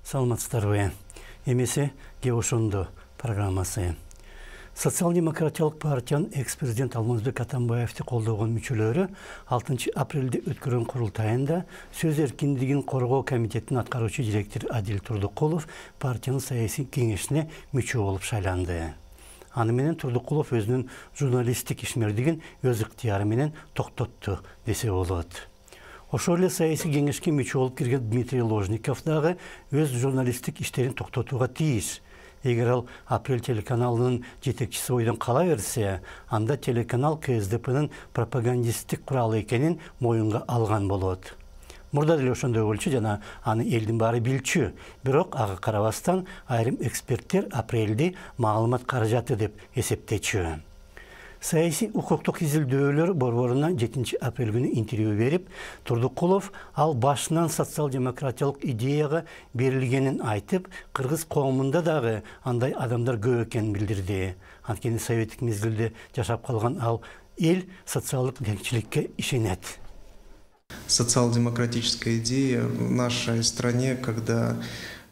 Саламатсыздарбы. Эмесе Ошондо программасы. Социал-демократиялык партиянын экс-президент Алмазбек Атамбаевди колдогон мүчөлөрү 6 апрелде өткөргөн курултайында сөз эркиндигин коргоо комитетинин аткаруучу директору Адил Турдукулов партиянын саясий кеңешине мүчө болуп шайланды. Аны менен Турдукулов өзүнүн журналисттик ишмердигин өз ыктыяры менен токтотту десе болот. Ошол эле саясий кеңешке мүчө болуп кирген Дмитрий Ложников дагы өз журналисттик иштерин токтотууга тийиш. Эгер ал Апрель телеканалынын жетекчиси бойдон кала берсе, анда телеканал КСДПнын пропагандисттик куралы экенин моюнга алган болот. Мурда деле ошондой болчу жана аны элдин баары билчү. Бирок ага карабастан айрым эксперттер Апрелди маалымат каражаты деп эсептечү. Саясий укуктук изилдөөлөр борборуна 7 апрель күнү интервью берип, Турдукулов ал башынан социал-демократиялык идеяга берилгенин айтып, кыргыз коомунда дагы андай адамдар көп экенин билдирди. Анткени советтик мезгилде жашап калган ал эл социалдык теңчиликке ишенет. Социал-демократическая идея в нашей стране, когда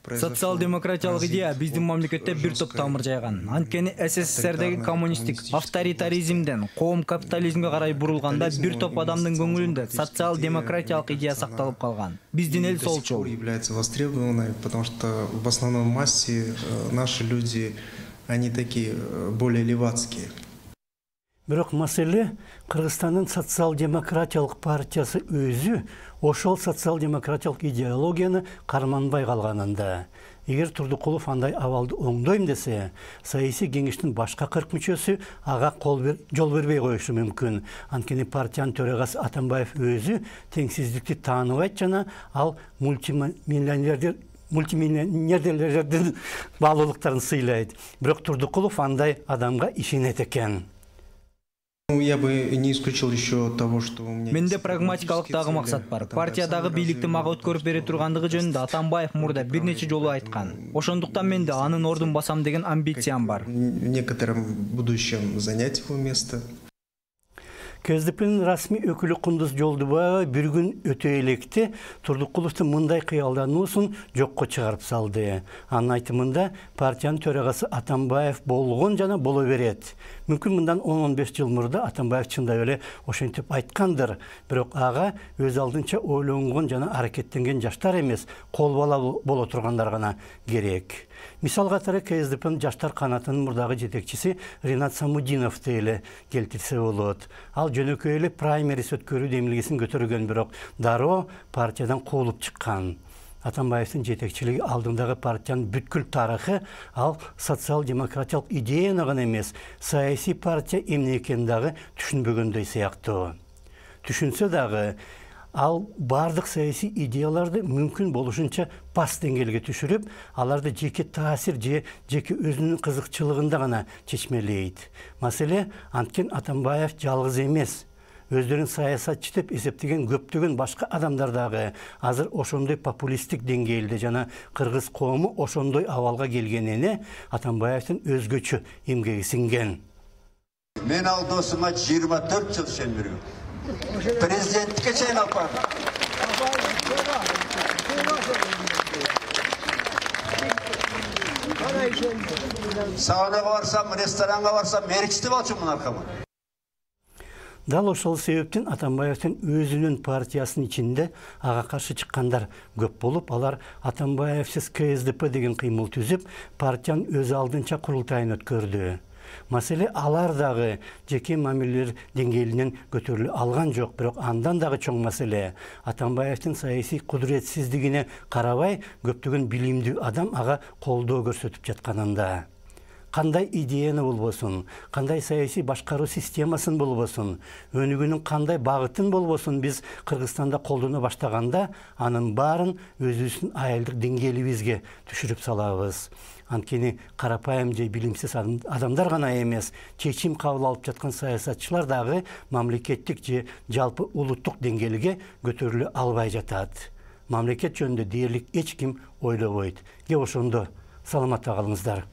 социал-демократиялык идея биздин мамлекетте бир топ тамыр жайган. Анткени СССРдеги коммунисттик авторитаризмден коом капитализмге карай бурулганда бир топ адамдын көңүлүндө социал-демократиялык идея сакталып калган. Биздин эл солчу. Является востребованной, потому что в основной массе наши люди, они такие более левацкие. Бирок маселе Кыргызстандын социал-демократиялык партиясы өзү ошол социал-демократиялык идеологияны карманбай калганында. Эгер Турдукулов андай абалды оңдойм десе, саясий кеңештин башка 40 мүчөсү ага жол бербей коюшу мүмкүн. Анткени партиянын төрагасы Атамбаев өзү теңсиздикти тааныбайт жана ал мультимиллионерлердин баалуулуктарын сыйлайт. Бирок Турдукулов андай адамга ишенет экен. Я бы не исключил еще того, что у меня... Менде прагматикалык дагы максат бар. Партиядагы бийликти мага өткөрүп бере тургандыгы жөнүндө Атамбаев мурда бир нече жолу айткан. Ошондуктан менде анын ордун басам деген амбициям бар. В некотором будущем занять его место. КСДПнын расмий өкүлү Кундуз Жолдубаева бир күн өтө электе Турдукуловдун мындай кыялдануусун жокко чыгарып салды. Анын айтымында партиянын төрагасы Атамбаев болгон жана боло берет. Мүмкүн мындан 10-15 жыл мурда Атамбаев чындап эле ошентип айткандыр. Бирок ага өз алдынча ойлонгон жана аракеттенген жаштар эмес, кол бала боло тургандар гана керек. Мисал катары КСДПнын жаштар канатынын мурдагы жетекчиси Ринат Самудиновду эле келтирсе болот. Ал жөнөкөй эле праймерис өткөрүү демилгесин көтөргөн, бирок дароо партиядан куулуп чыккан. Атамбаевдин жетекчилиги алдындагы партиянын бүткүл тарыхы ал социал-демократиялык идеяны гана эмес, саясий партия эмне экенин дагы түшүнбөгөндөй сыяктуу. Түшүнсө дагы ал бардык саясий идеяларды мүмкүн болушунча пас деңгээлге түшүрүп, аларды жеке таасир же жеке өзүнүн кызыкчылыгында гана чечмелейт. Маселе анткен Атамбаев жалгыз эмес. Өздөрүн саясатчы деп эсептеген көптөгөн башка адамдар дагы азыр ошондой популисттик деңгээлде жана кыргыз коому ошондой абалга келгенине Атамбаевдин өзгөчө эмгеги сиңген. Мен ал досума 24 жыл ишендиргем. Президенттикке чейин алып бардым. Саунага барсам, ресторанга барсам, меричти болчумун аркама. Дал ошол себептен Атамбаевдин өзүнүн партиясынын ичинде ага каршы чыккандар көп болуп, алар Атамбаевсиз КСДП деген кыймыл түзүп, партиянын өз алдынча курултайын өткөрдү. Маселе алар дагы жеке мамилелер деңгээлинен көтөрүлө алган жок, бирок андан дагы чоң маселе Атамбаевдин саясий кудуретсиздигине карабай көптөгөн билимдүү адам ага колдоо көрсөтүп жатканында. Кандай идеяны болбосун, кандай саясий башкаруу системасын болбосун, өнүгүүнүн кандай багытын болбосун биз Кыргызстанда колдоно баштаганда, анын баарын өзүбүздүн аялдык деңгээлибизге түшүрүп салабыз. Анткени карапайым же билимсиз адамдар гана эмес, чечим кабыл алып жаткан саясатчылар дагы мамлекеттик же жалпы улуттук деңгээлге көтөрүлө албай жатат. Мамлекет жөнүндө дээрлик эч ким ойлобойт. Ошондо саламатта калыңыздар.